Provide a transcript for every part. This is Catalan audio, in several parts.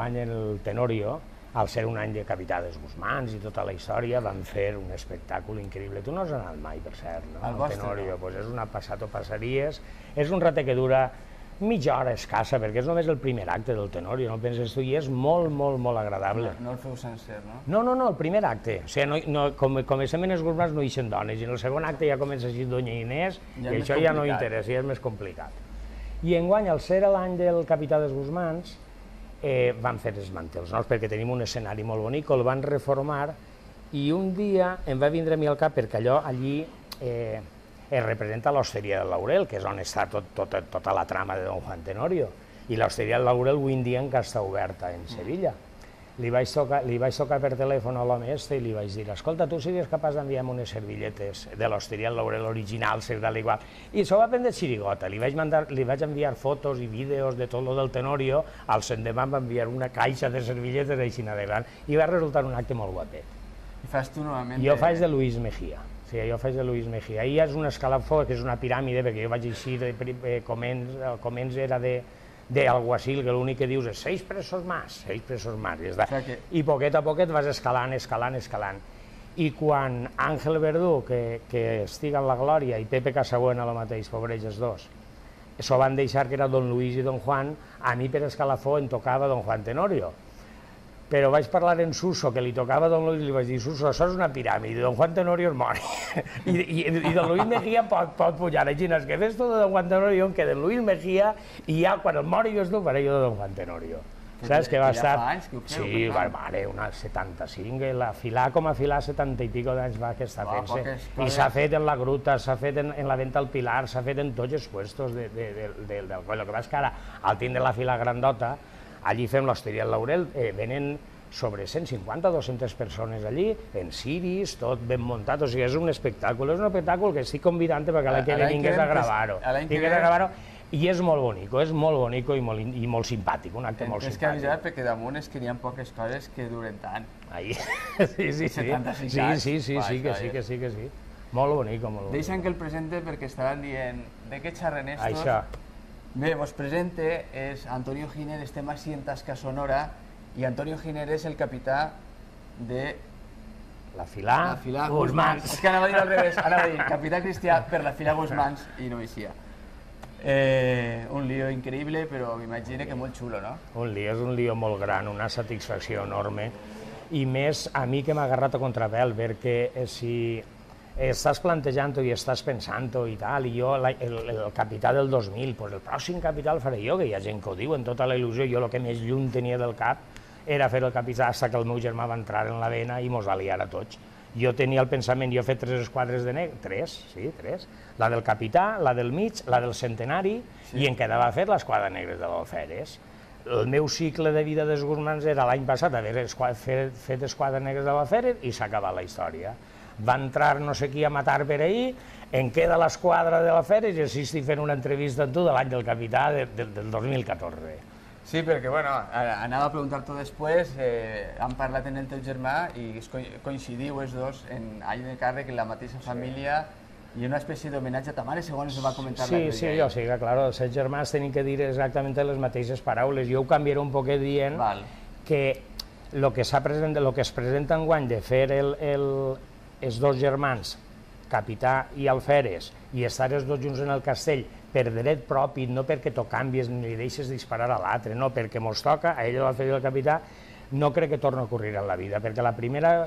enguany el Tenorio, al ser un any de Capità dels Guzmans i tota la història, van fer un espectacle increïble. Tu no has anat mai, per cert, no? Al vostre, Tenorio, doncs és una passat o passaries. És un ratet que dura mitja hora escassa, perquè és només el primer acte del Tenorio, no penses tu, i és molt, molt, molt agradable. No el feu sencer, no? No, el primer acte. O sigui, com comencem en els Guzmans no hi eixen dones, i en el segon acte ja comença així Doña Inés, i això ja no interessa, ja és més complicat. I enguany, al ser l'any del Capità dels Guzmans, van fer els mantels nous, perquè tenim un escenari molt bonic, el van reformar, i un dia em va vindre a mi al cap, perquè allò allí es representa l'Hosteria del Laurel, que és on està tota la trama de Don Juan Tenorio, i l'Hosteria del Laurel avui en dia encara està oberta en Sevilla. Li vaig tocar per telèfon a l'home este i li vaig dir, escolta, tu sigues capaç d'enviar-me unes servilletes de l'Hosteria del Laurel original, tal igual. I s'ho va prendre xirigota, li vaig enviar fotos i vídeos de tot lo del Tenorio, al l'endemà em va enviar una caixa de servilletes així de gran, i va resultar un acte molt guapet. I fas tu novament? Jo faig de Luis Mejía. Sí, jo faig de Luis Mejía. Ahir és un escalafó, que és una piràmide, perquè jo vaig eixir, començ era d'alguacil, que l'únic que dius és 6 presos més, i poquet a poquet vas escalant. I quan Àngel Verdú, que estiga en la glòria, i Pepe Casabuena, el mateix, pobres els dos, s'ho van deixar que era Don Luis i Don Juan, a mi per escalafó em tocava Don Juan Tenorio. Però vaig parlar en Suso, que li tocava a Don Luis, i li vaig dir, Suso, això és una piràmide, Don Juan Tenorio es mor. I Don Luis Mejía pot pujar. Així que fes tu de Don Juan Tenorio, que de Luis Mejía, i ja quan el mori jo faré jo de Don Juan Tenorio. Saps que va estar... Ja fa anys que ho feu? Sí, mare, una 75, la filar com a filar 70 i pico d'anys va que està fent-se. I s'ha fet en la Gruta, s'ha fet en la Venta al Pilar, s'ha fet en tots els puestos del coll. El que passa és que ara, al tindre la fila grandota, allí fem l'Hosteria del Laurel, venen sobre 150 o 200 persones allí, en ciris, tot ben muntat, o sigui, és un espectacle que estic convidant perquè l'any que ve vingués a gravar-ho. I és molt bonic i molt simpàtic, un acte molt simpàtic. És que avisar perquè damunt és que n'hi ha poques coses que duren tant. Sí, 75 anys. Sí. Molt bonic. Deixa'm que el presente perquè estaran dient de què xerren estos. Això. Bé, vos presente és Antonio Giner, estem així en Tasca Sonora, i Antonio Giner és el capità de... La Filar Guzmans. És que anava a dir al revés, anava a dir capità cristià per la Filar Guzmans i no eixia. Un lío increïble, però m'imagino que molt xulo, no? És un lío molt gran, una satisfacció enorme, i més a mi que m'ha agarrat a contrapèl, perquè si estàs plantejant-ho i estàs pensant-ho i tal, i jo, el capità del 2000, doncs el pròxim capità el faré jo, que hi ha gent que ho diu, en tota la il·lusió, jo el que més lluny tenia del cap era fer el capità fins que el meu germà va entrar en la vena i mos va liar a tots. Jo tenia el pensament, jo he fet 3 esquadres de negre, 3, la del capità, la del mig, la del centenari, i em quedava a fer l'esquadra negra de l'Alferes. El meu cicle de vida dels Guzmans era l'any passat haver fet esquadra negra de l'Alferes i s'ha acabat la història. Va entrar no sé qui a matar per ahir, em queda l'esquadra de l'Alferes i així estic fent una entrevista amb tu de l'any del capità del 2014. Sí, perquè, bueno, anava a preguntar-t'ho després, han parlat en el teu germà i coincidiu els dos en any de càrrec, en la mateixa família, i una espècie d'homenatge a ta mare, segons es va comentar l'altre dia. Sí, jo sé que, clar, els 7 germans tenen que dir exactament les mateixes paraules. Jo ho canviaré un poquet dient que el que es presenta enguany de fer els dos germans, capità i alferes, i estar els dos junts en el castell per dret propi, no perquè t'ho canvies ni li deixes disparar a l'altre, no, perquè mos toca, a ell l'alferes i el capità, no crec que torni a ocorrir en la vida, perquè la primera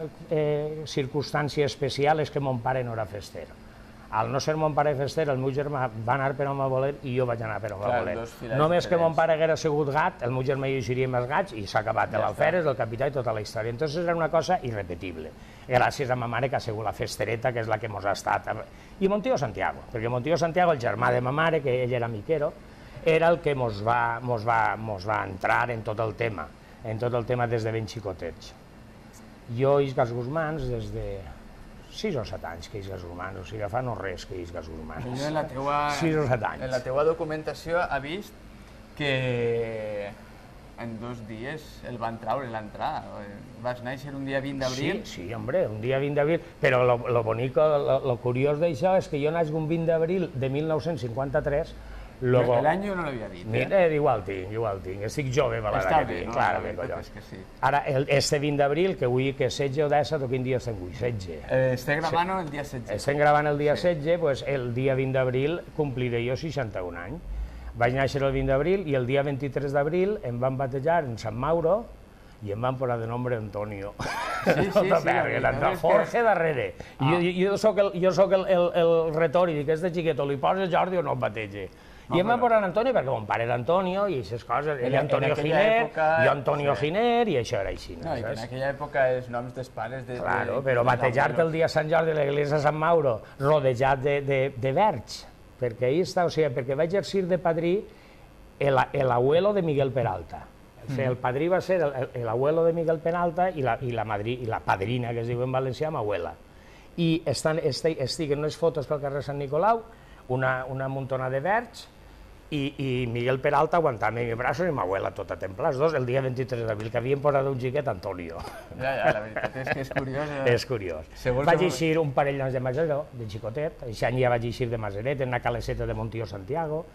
circumstància especial és que mon pare no era fester. Al no ser mon pare fester, el meu germà va anar per on va voler i jo vaig anar per on va voler. Només que mon pare haguera sigut gat, el meu germà i jo seríem els gats i s'ha acabat l'alferes, el capità i tota la història. Entonces era una cosa irrepetible. Gràcies a ma mare que ha sigut la festereta, que és la que mos ha estat. I mon tio Santiago, perquè mon tio Santiago, el germà de ma mare, que ell era miquero, era el que mos va entrar en tot el tema des de ben xicotets. Jo i els Guzmans des de 6 o 7 anys que és gas Guzmans, o sigui, fa no res que és gas Guzmans. Jo en la teua... 6 o 7 anys. En la teua documentació ha vist que en 2 dies el van treure l'entrada. Vas néixer un dia 20 d'abril? Sí, hombre, un dia 20 d'abril, però lo bonic, lo curiós d'això és que jo naix un 20 d'abril de 1953, L'any no l'havia dit. Igual tinc, estic jove per l'edat que tinc. Clar, la veritat és que sí. Ara, este 20 d'abril, que avui que 16 o 17, o quin dia estem avui? 16. Estem gravant el dia 16. Estem gravant el dia 16, doncs el dia 20 d'abril compliré jo 61 anys. Vaig néixer el 20 d'abril i el dia 23 d'abril em van batejar en Sant Mauro i em van posar de nombre Antonio. Sí. Jorge darrere. Jo soc el retòric, este xiqueto, li poses Jordi o no el batege. I em van posar Antonio perquè mon pare era Antonio i aquestes coses, ell Antonio Giner, jo Antonio Giner i això era així. No, i en aquella època els noms dels pares... Claro, però batejar-te el dia Sant Jordi a l'església de Sant Mauro rodejat de verds, perquè ahí està, o sigui, perquè va exercir de padrí l'abuelo de Miguel Peralta. El padrí va ser l'abuelo de Miguel Peralta i la padrina, que es diu en valencià, m'abuela. I estic en unes fotos pel carrer Sant Nicolau, una muntona de verds, i Miguel Peralta aguantant-me els braços i m'abuela tota templada, els dos, el dia 23 d'abril, que havien posat un xiquet Antonio. Ja, la veritat és que és curiós. És curiós. Vaig eixir un parell d'anys de Maseró, de xicotet, aquest any ja vaig eixir de Maseret, en una caleseta de Montió Santiago,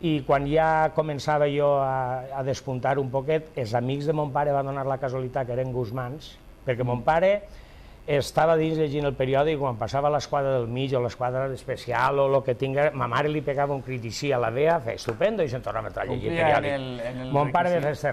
i quan ja començava jo a despuntar un poquet, els amics de mon pare van donar la casualitat que eren guzmans, perquè mon pare estava dins llegint el periòdic quan passava l'esquadra del mig o l'esquadra especial o el que tingués, ma mare li pegava un crit així a la vea, feia estupendo i se'n tornava a entrar a llegir el periòdic. Mon pare de res.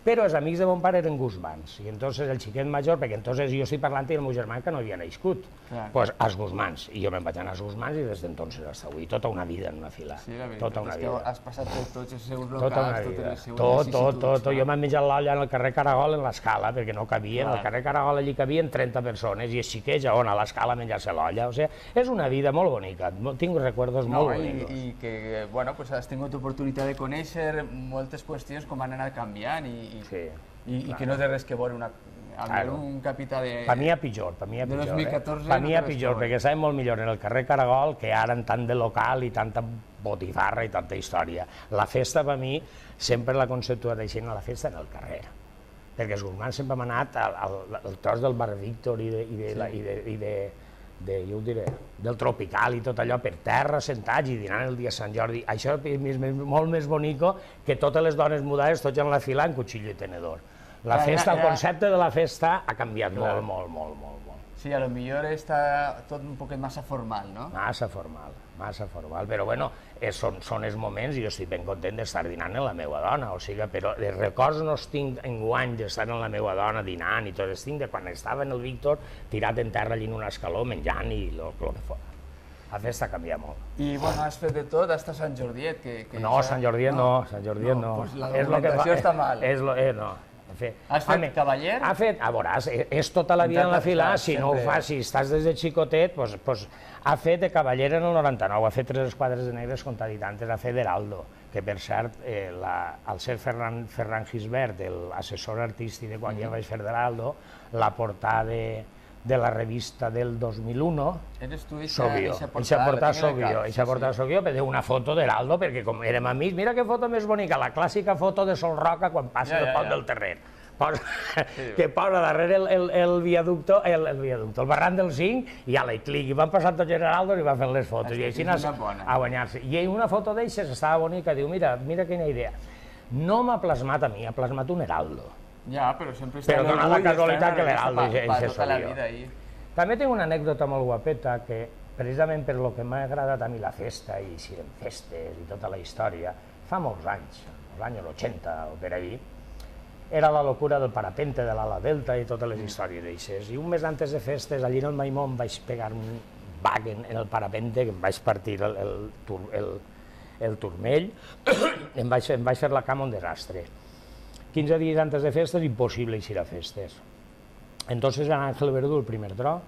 Però els amics de mon pare eren guzmans, i entonces el xiquet major, perquè entonces jo estic parlant del meu germà que no havia nascut, doncs als guzmans, i jo me'n vaig anar als guzmans i des d'entonces fins avui, tota una vida en una fila. Sí, la veritat és que has passat per tots els seus locals, totes les seues vicissituds. Jo m'he menjat l'olla en el carrer Caragol en l'escala, perquè no cabien, al carrer Caragol allí cabien 30 persones, i els xiquets on a l'escala a menjar-se l'olla, o sigui, és una vida molt bonica, tinc recuerdos molt bonics. I que, bueno, has tingut oportunitat de conèixer moltes qüestions com han anat canviant i que no té res que veure un capità de... Per mi a pitjor, per mi a pitjor. De 2014... Per mi a pitjor, perquè estàvem molt millor en el carrer Caragol que ara en tant de local i tanta botifarra i tanta història. La festa, per mi, sempre la conceptuat així a la festa en el carrer. Perquè els guzmans sempre hem anat al tros del Bar Víctor i jo ho diré, del Tropical i tot allò per terra, sentats i dinant el dia Sant Jordi. Això és molt més bonico que totes les dones mudades tots en la fila amb cuchillo i tenedor. La festa, el concepte de la festa ha canviat molt. Sí, a lo millor està tot un poquet massa formal, no? Massa formal, però bueno, són els moments i jo estic ben content d'estar dinant amb la meva dona, o sigui, però els records no els tinc enguany d'estar amb la meva dona dinant i tot, els tinc de quan estava en el Víctor tirat en terra allí en un escaló menjant i el que fos. La festa ha canviat molt. I bueno, has fet de tot, hasta Sant Jordiet. No, Sant Jordiet no. Pues la documentació està mal. No. Has fet cavaller? Veuràs, és tota la vida en la fila, si no ho fas, si estàs des de xicotet, doncs ha fet de cavaller en el 99, ha fet 3 esquadres de negres contraditantes, ha fet d'heraldo, que per cert, al ser Ferran Gisbert, l'assessor artístic de quan ja vaig fer d'heraldo, la portada de la revista del 2001, soc jo. Eixa portada soc jo, perquè una foto d'heraldo, perquè com érem amics, mira que foto més bonica, la clàssica foto de Sol Roca quan passa el pont del Terrer. Que posa darrere el viaducto, el barranc del 5, i a la clic, i van passant tots els heraldos i van fent les fotos, i així a guanyar-se. I una foto d'eixes estava bonica, diu, mira quina idea. No m'ha plasmat a mi, ha plasmat un heraldo. Ja, però sempre però dona la casualitat que l'heraldo és jo. També tinc una anècdota molt guapeta que, precisament per lo que m'ha agradat a mi la festa i si eren festes i tota la història, fa molts anys, als anys 80 o per ahí, era la locura del parapente de l'ala delta i totes les històries d'aixes. I un mes antes de festes, allí en el Maimó em vaig pegar un bag en el parapente, que em vaig partir el turmell, em vaig fer la cama un desastre. 15 dies antes de festes, impossible eixir a festes. Entonces en Ángel Verdú, el primer tro,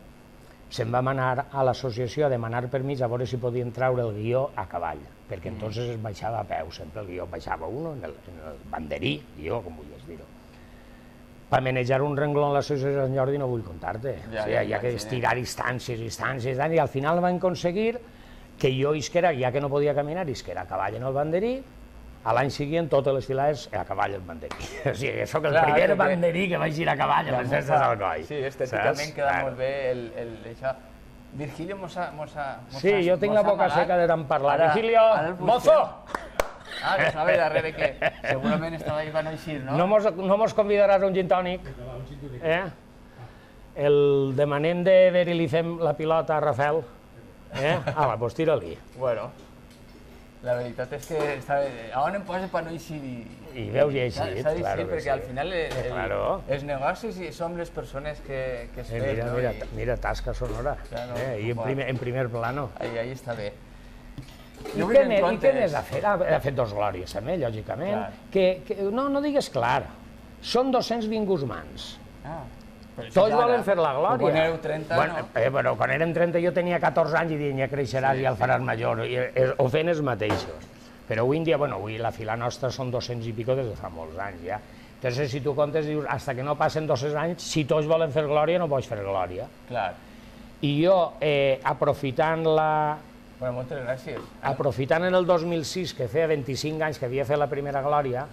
se'n vam anar a l'associació a demanar permís a veure si podien traure el guió a cavall, perquè entonces es baixava a peu, sempre el guió baixava uno en el banderí, guió, com vulguis dir-ho. Per manejar un rengló en l'associació de Sant Jordi no vull contar-te, hi ha que estirar instàncies, i al final van aconseguir que jo isquera, ja que no podia caminar, isquera a cavall en el banderí. A l'any següent, totes les filades a cavall al banderí. O sigui, soc el primer banderí que vaig ir a cavall a les festes d'Alcoi. Sí, estèticament queda molt bé això. Virgilio mos ha... Sí, jo tinc la boca seca de tant parlar. Virgilio, mozo! Ah, que estava darrere, que segurament estava ahí per no eixir, no? No mos convidaràs a un gin tònic? El demanem de veure li fem la pilota a Rafael? Ala, doncs tira-li. Bueno, la veritat és que on em posa per no eixir i veus i eixit, s'ha d'eixir, perquè al final els negocis som les persones que es fem, no? Mira, tasca sonora, i en primer plano. Ahí està bé. I què més ha fet? Ha fet dos glòries, també, lògicament. No digues clar, són 220 gusmans. Tots volen fer la glòria. Quan éreu 30, no? Però quan érem 30 jo tenia 14 anys i deien ja creixeràs i el faràs major. Ho feien els mateixos. Però avui en dia, avui la fila nostra són 200 i pico des de fa molts anys ja. Entonces, si tu comptes, dius, hasta que no passen 200 anys, si tots volen fer glòria, no pots fer glòria. Clar. I jo, aprofitant la... Bueno, moltes gràcies. Aprofitant en el 2006, que feia 25 anys que havia fet la primera glòria,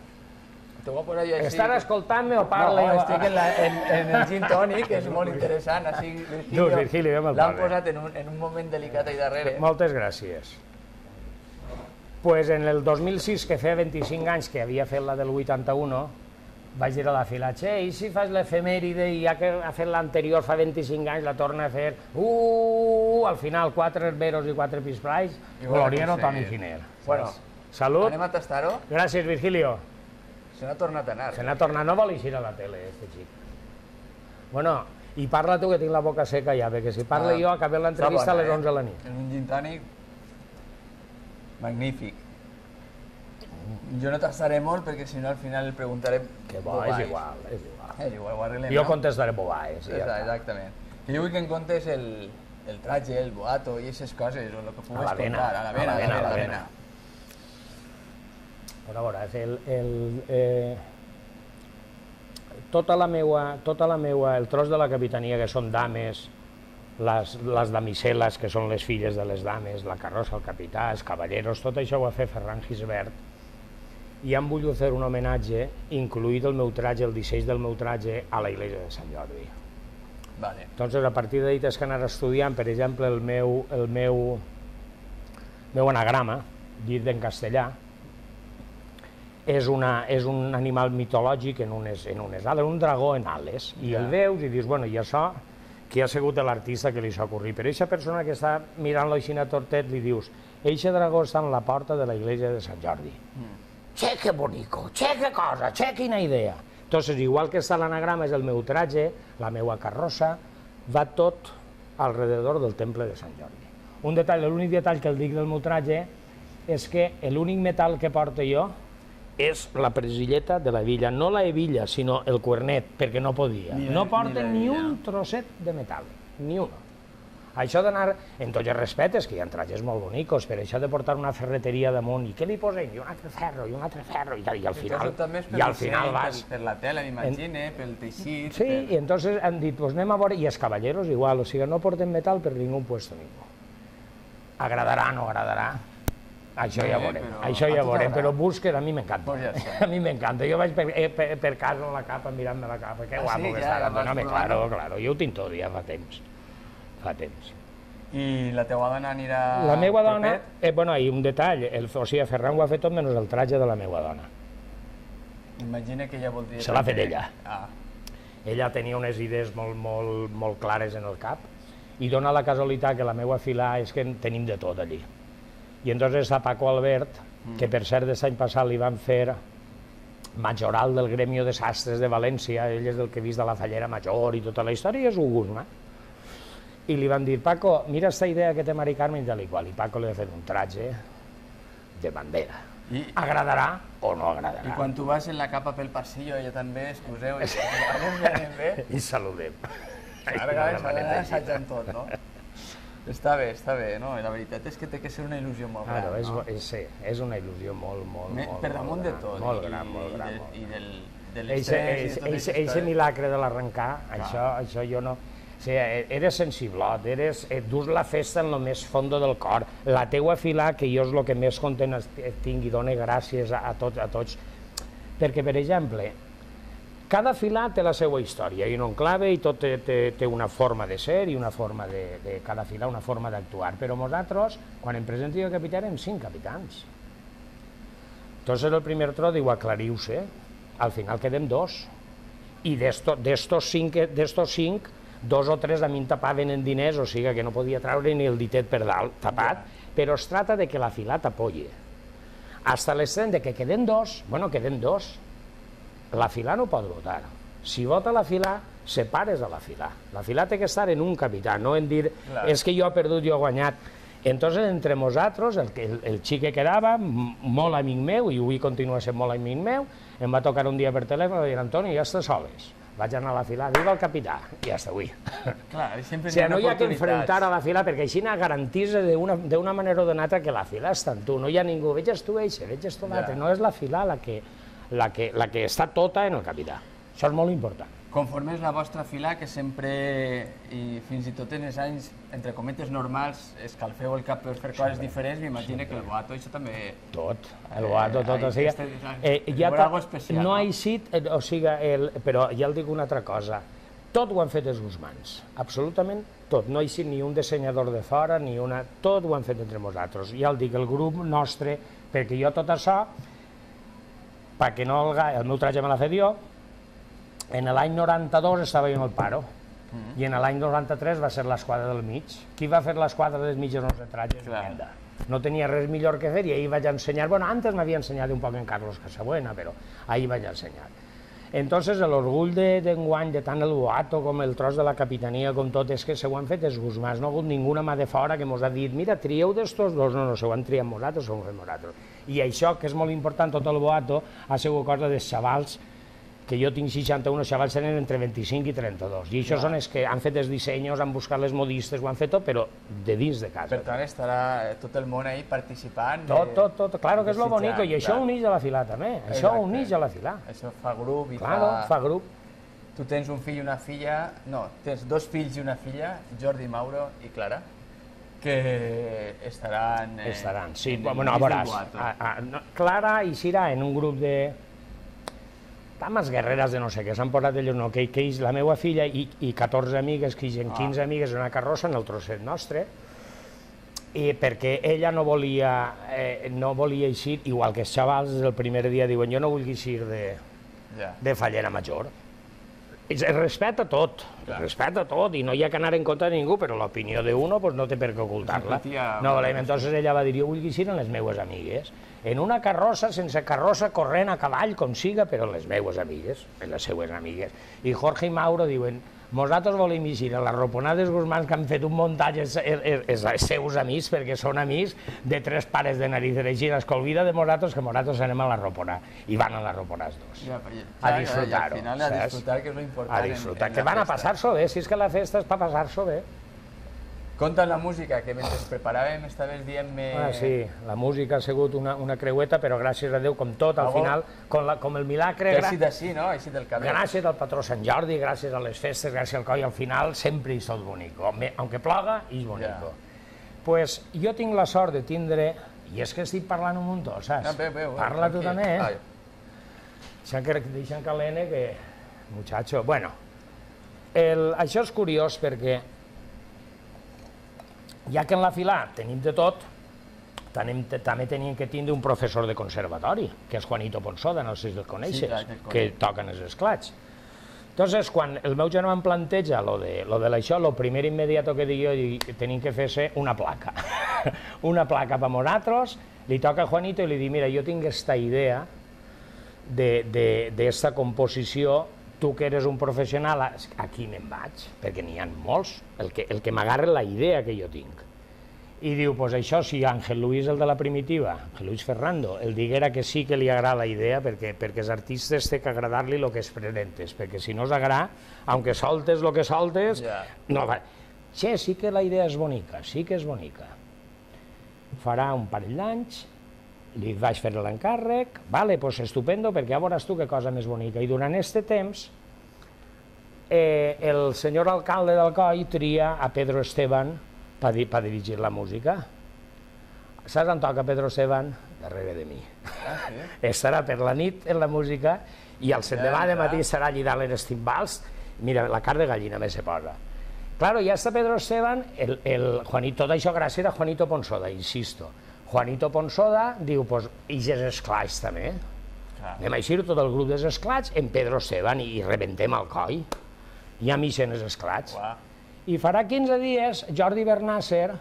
estan escoltant-me o parla? No, estic en el gin tònic, que és molt interessant. Virgili, l'han posat en un moment delicat ahí darrere. Moltes gràcies. Pues en el 2006, que feia 25 anys que havia fet la del 81, vaig dir a la fila, i si fas l'efemèride i ja que ha fet l'anterior fa 25 anys la torna a fer, al final 4 herberos i 4 pisplais, gloriero Toni Giner. Bueno, salut. Anem a tastar-ho? Gràcies, Virgilio. Se n'ha tornat a anar. Se n'ha tornat, no vol eixir a la tele, este xic. Bueno, i parla tu, que tinc la boca seca ja, perquè si parla jo acabem l'entrevista a les 11 de la nit. En un gin tònic magnífic. Jo no tastaré molt perquè si no al final el preguntaré bobaes. És igual. És igual, ho arreglem, jo contestaré bobaes. Exactament. Que jo vull que em contes el traje, el boato i aquestes coses, o el que pugues contar. A la vena. A veure, tota la meua, el tros de la capitania, que són dames, les damisel·les, que són les filles de les dames, la carrossa, el capità, els cavalleros, tot això ho va fer Ferran Gisbert, i han volgut fer un homenatge, incluït el meu traje, el disseny del meu traje, a la Iglesia de Sant Jordi. Entonces, a partir d'ahí tens que anar estudiant, per exemple, el meu anagrama, dit en castellà, és un animal mitològic en unes ales, un dragó en ales, i el veus i dius, bueno, i això, qui ha sigut l'artista que li s'ha ocorrit? Però aquesta persona que està mirant-lo així a tortet li dius, eixe dragó està en la porta de la Iglesia de Sant Jordi. Che, que bonico, che, que cosa, che, quina idea. Entonces, igual que està l'anagrama, és el meu traje, la meua carrossa, va tot alrededor del temple de Sant Jordi. Un detall, l'únic detall que el dic del meu traje és que l'únic metall que porto jo és la presilleta de la villa, no la hebilla, sinó el cuernet, perquè no podia. No porta ni un trosset de metall, ni un. Això d'anar, en tots els respectes, que hi ha trajes molt bonicos, però això de portar una ferreteria damunt, i què li posem? I un altre ferro, i al final vas... Per la tela, m'imagine, pel teixit... Sí, i entonces han dit, pues anem a veure, i els cavalleros igual, o sigui, no porten metall per ningú puesto ningú. Agradarà, no agradarà, això ja veurem, però búsqueda a mi m'encanta. A mi m'encanta, jo vaig per casa amb la capa, mirant-me la capa, que guapo que està, claro, jo ho tinc tot ja fa temps. I la teua dona anirà... La meva dona, bueno, hi ha un detall, o sigui, Ferran ho ha fet tot menys el traje de la meva dona. Imagina que ella voldria... Se l'ha fet ella. Ella tenia unes idees molt clares en el cap i dona la casualitat que la meva fila és que tenim de tot allí. I entonces a Paco Albert, que per cert l'any passat li van fer majoral del Gremio de Sastres de València, ell és el que ha vist de la Fallera Major i tota la història, i és un gusma. I li van dir, Paco, mira esta idea que té Mari Carmen i tal i qual, i Paco li ha fet un traje de bandera. Agradarà o no agradarà. I quan tu vas en la capa pel passillo, ella també, excuseu, i saludem. Ara s'ha d'anar assajant tot, no? Està bé, no? La veritat és que té que ser una il·lusió molt gran, no? Sí, és una il·lusió molt per damunt de tot. Molt gran. I de l'estrès i de tot això. Eixe milagre de l'arrencar, això jo no... O sigui, eres sensiblot, dus la festa en el més fondo del cor. La teua fila, que jo és el que més content tinc i dona gràcies a tots. Perquè, per exemple, Cada fila té la seva història i un enclave i tot té una forma de ser i una forma de cada fila, una forma d'actuar. Però nosaltres, quan em presenti de capità, érem 5 capitans. Entonces el primer tro diu, aclariu-se, al final quedem 2. I d'estos 5, 2 o 3 a mi em tapaven en diners, o sigui que no podia treure ni el ditet per dalt tapat, però es tracta de que la fila t'apoyi. Hasta l'extrem de que quedem 2, bueno, quedem 2, la fila no pot votar. Si vota la fila, separes a la fila. La fila té que estar en un capità, no en dir, és que jo he perdut, jo he guanyat. Entonces, entre nosaltres, el xic que quedava, molt amic meu, i avui continua sent molt amic meu, em va tocar un dia per telèfon i dir, Antoni, ja estàs soles. Vaig anar a la fila, diu el capità, i ja està avui. No hi ha que enfrontar a la fila, perquè així garantís d'una manera o d'una altra que la fila està en tu. No hi ha ningú, veges tu eixe, veges tu l'altre. No és la fila la que està tota en el capità. Això és molt important. Conforme és la vostra fila, que sempre, i fins i tot en els anys, entre cometes normals, escalfeu el cap per fer coses diferents, m'imagino que el boato, això també... Tot, el boato, tot, o sigui... No ha eixit, o sigui, però ja el dic una altra cosa, tot ho han fet els guzmans, absolutament tot, no ha eixit ni un dissenyador de fora, ni una... Tot ho han fet entre nosaltres, ja el dic, el grup nostre, perquè jo tot això, perquè no el meu traje me l'ha fet jo, en l'any 92 estava jo en el paro i en l'any 93 va ser l'esquadra del mig. Qui va fer l'esquadra del mig en els trajes? No tenia res millor que fer i ahir vaig ensenyar, bueno, antes m'havia ensenyat un poc en Carlos Casabuena, però ahir vaig ensenyar. Entonces l'orgull d'enguany, de tant el boato com el tros de la capitania, com tot, és que se ho han fet els guzmans, no ha hagut ninguna mà de fora que mos ha dit, mira, trieu d'estos dos, no, se ho han triat nosaltres, ho hem fet nosaltres. I això, que és molt important, tot el boato, ha sigut cosa dels xavals, que jo tinc 61, els xavals tenen entre 25 i 32, i això són els que han fet els dissenys, han buscat les modistes, ho han fet tot, però de dins de casa. Per tant, estarà tot el món ahí participant. Tot, claro que és lo bonico, i això uneix a la fila també, això uneix a la fila. Això fa grup i fa grup. Tu tens un fill i una filla, no, tens 2 fills i una filla, Jordi, Mauro i Clara, que estaran... Estaran, sí, bueno, a veuràs, Clara i Cira en un grup de... dames guerreres de no sé què, s'han posat ells, no, que la meva filla i 14 amigues, que hi 15 amigues en una carrossa en el trosset nostre, i perquè ella no volia eixir, igual que els xavals el primer dia diuen, jo no vull eixir de fallera major. Es respecta tot, i no hi ha que anar en contra de ningú, però l'opinió d'uno no té per què ocultar-la. Entonces ella va dir, jo vull eixir amb les meues amigues, en una carrossa, sense carrossa, corrent a cavall, com siga, però les meues amigues, les seues amigues. I Jorge i Mauro diuen, nosaltres volem eixir a les roponades guzmans que han fet un muntatge els seus amics, perquè són amics de 3 pares de narices, així es que olvida de nosaltres que nosaltres anem a la roponà, i van a la roponà els dos, a disfrutar-ho. Al final a disfrutar, que és lo important. A disfrutar, que van a passar-s'ho bé, si és que la festa és per passar-s'ho bé. Conta la música, que mentre preparàvem estaves dient-me... Sí, la música ha sigut una creueta, però gràcies a Déu, com tot, al final, com el milagre... Que ha sigut així, no? Així del cabell. Gràcies al patró Sant Jordi, gràcies a les festes, gràcies al coll, al final sempre hi sóc bonico. Aunque ploga, hi és bonico. Pues jo tinc la sort de tindre... I és que estic parlant un muntó, saps? Parla tu també, Deixa'm que l'N, que... Muchacho, bueno... Això és curiós perquè... Ja que en la fila tenim de tot, també tenim que tindre un professor de conservatori, que és Juanito Ponsoda, no sé si el coneixes, que toquen els esclats. Entonces, quan el meu germà em planteja lo de l'això, el primer immediato que dic jo, tenim que fer-se una placa. Una placa per nosaltres, li toca a Juanito i li dic, mira, jo tinc aquesta idea d'esta composició, tu que eres un professional, aquí me'n vaig, perquè n'hi ha molts, el que m'agarra la idea que jo tinc. I diu, doncs això, si Ángel Luis, el de la primitiva, Ángel Luis Ferrando, el diguera que sí que li agrada la idea, perquè els artistes té que agradar-li el que es presentes, perquè si no us agrada, aunque soltes el que soltes, no va. Sí que la idea és bonica, sí que és bonica. Farà un parell d'anys, li vaig fer l'encàrrec, vale, doncs estupendo, perquè ja veuràs tu que cosa més bonica. I durant aquest temps, el senyor alcalde d'Alcoi tria a Pedro Esteban per dirigir la música. saps on toca Pedro Esteban? Darrere de mi. Estarà per la nit en la música i el l'endemà de matí estarà allí dalt en els timbals. Mira, la carn de gallina més se posa. Claro, ja està Pedro Esteban, Juanito, tot això gràcies a Juanito Ponsoda, insisto. Juanito Ponsoda diu, pues, i els esclats també. Anem a eixir tot el grup dels esclats en Pedro Esteban i rebentem el coll. Ja m'ixen els esclats. I farà 15 dies, Jordi Bernàcer,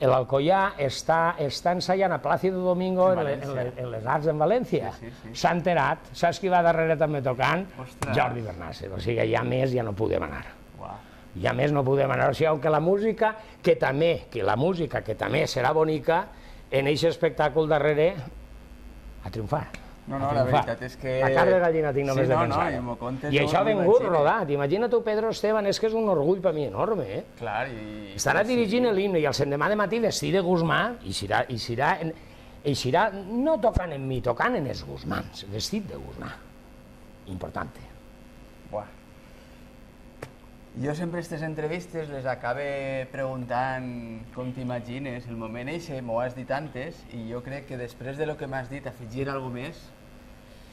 l'Alcoià, està ensaiant a Plácido Domingo en les Arts en València. S'ha enterat, saps qui va darrere també tocant? Jordi Bernàcer. O sigui, ja més ja no podem anar. Ja més no podem anar. O sigui, que la música, que també serà bonica, en aquest espectacle darrere, a triomfar. No, la veritat és que... La carn de gallina tinc només de pensar. I això ha vingut rodat. Imagina tu, Pedro Esteban, és que és un orgull per mi enorme, eh? Clar, estarà dirigint l'himne i el l'endemà de matí vestit de Guzmà i serà no tocant en mi, tocant en els Guzmans, vestit de Guzmà. Importante. Jo sempre aquestes entrevistes les acabe preguntant com t'imagines el moment eixe, m'ho has dit antes, i jo crec que després de lo que m'has dit, afegir alguna més...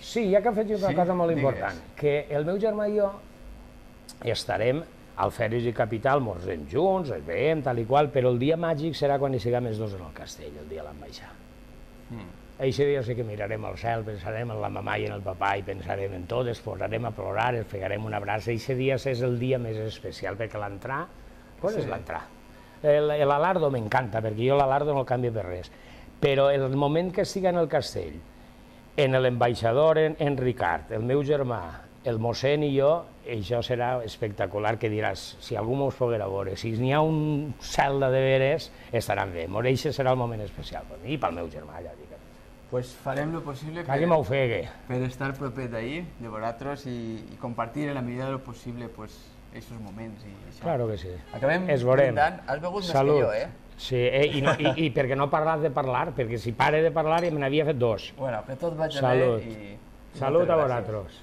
Sí, hi ha que afegir una cosa molt important, que el meu germà i jo estarem al Fèlix i Capital, morsem junts, ens veiem, tal i qual, però el dia màgic serà quan hi siguem els dos en el castell, el dia de l'ambaixada. Eixe dia sí que mirarem al cel, pensarem en la mamà i en el papà i pensarem en tot, ens posarem a plorar, ens pegarem un abraç. Eixe dia és el dia més especial, perquè l'entrar, com és l'entrar? L'alardo m'encanta, perquè jo l'alardo no el canvio per res, però el moment que estigui en el castell, en l'ambaixador en Ricard, el meu germà, el mossèn i jo, això serà espectacular, que diràs, si algú mos poguera veure, si n'hi ha un cel de veres, estaran bé. Eixe serà el moment especial per mi i pel meu germà, ja dic. Pues farem lo possible per estar proper d'ahir, de vosaltres, i compartir en la medida de lo possible aquests moments. Claro que sí. Acabem brindant. Has begut més que jo, eh? Sí, i perquè no parlat de parlar, perquè si pare de parlar ja me n'havia fet dos. Bueno, que tot vagi bé i... Salut a vosaltres.